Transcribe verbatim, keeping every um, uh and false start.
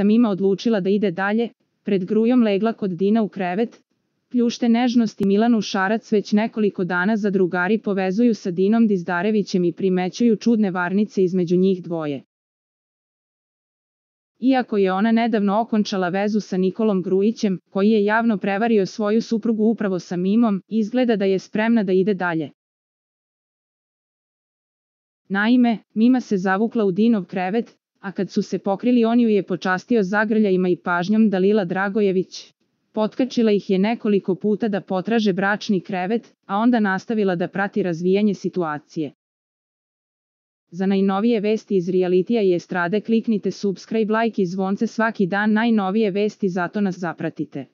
Mima odlučila da ide dalje, pred grujom legla kod Dina u krevet. Pljušte nežnosti Milanu Šarac već nekoliko dana zadrugari povezuju sa Dinom Dizdarevićem i primećuju čudne varnice između njih dvoje. Iako je ona nedavno okončala vezu sa Nikolom Grujićem, koji je javno prevario svoju suprugu upravo sa Mimom, izgleda da je spremna da ide dalje. Naime, Mima se zavukla u Dinov krevet, a kad su se pokrili on ju je počastio zagrljajima i pažnjom Dalila Dragojević. Potkačila ih je nekoliko puta da potraže bračni krevet, a onda nastavila da prati razvijanje situacije. Za najnovije vesti iz realitija i estrade kliknite subscribe, like i zvonce svaki dan, najnovije vesti, zato nas zapratite.